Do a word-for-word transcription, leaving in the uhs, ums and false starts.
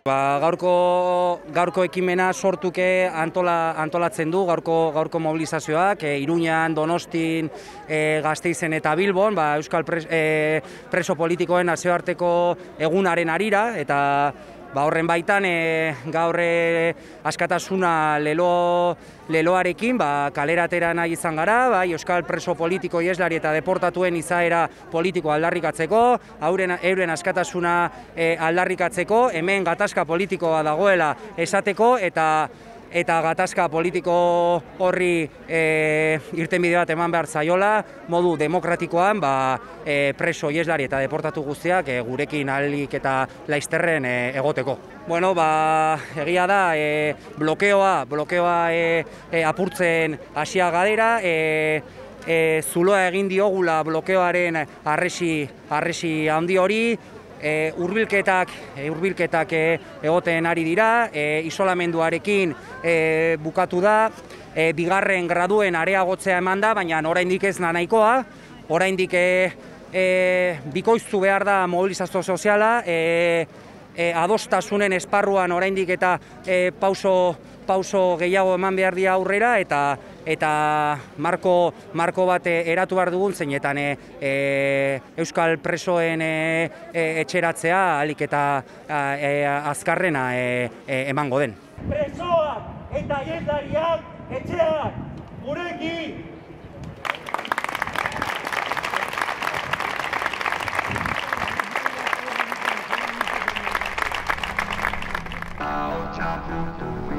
Ba, gaurko, gaurko ekimena sortuke antola, antolatzen du, gaurko, gaurko mobilizazioak, e, Iruñan, Donostin, e, Gasteizen eta Bilbon, ba, Euskal pres, e, preso politikoen nazioarteko egunaren arira, eta ba, horren baitan e, gaur e, askatasuna lelo, leloarekin ba, kaleratera nahi izan gara, bai, Euskal preso politiko ieslari eta deportatuen izaera politiko aldarrikatzeko, euren, euren askatasuna e, aldarrikatzeko, hemen gatazka politikoa dagoela esateko, eta eta gatazka politiko horri e, irtenbide bat eman behar zaiola, modu demokratikoan ba, e, preso ieslari eta deportatu guztiak e, gurekin ahalik eta laizterren e, egoteko. Bueno, ba, egia da, e, blokeoa, blokeoa e, e, apurtzen hasia gadera, e, e, zuloa egin diogula blokeoaren harresi, harresi handi hori, E, hurbilketak e, hurbilketak e, egoten ari dira, e, isolamenduarekin e, bukatu da, e, bigarren graduen areagotzea eman da, baina oraindik ez da nahikoa, oraindik e, e, bikoiztu behar da mobilizazio soziala, e, e, adostasunen esparruan oraindik eta e, pauso, pauso gehiago eman behar dira aurrera, eta eta marko, marko bat eratu behar dugun zeinetan e, e, Euskal presoen e, e, etxeratzea ahalik eta e, azkarrena e, e, emango den. Presoak eta ieslariak etxeak gurekin! Ahotsa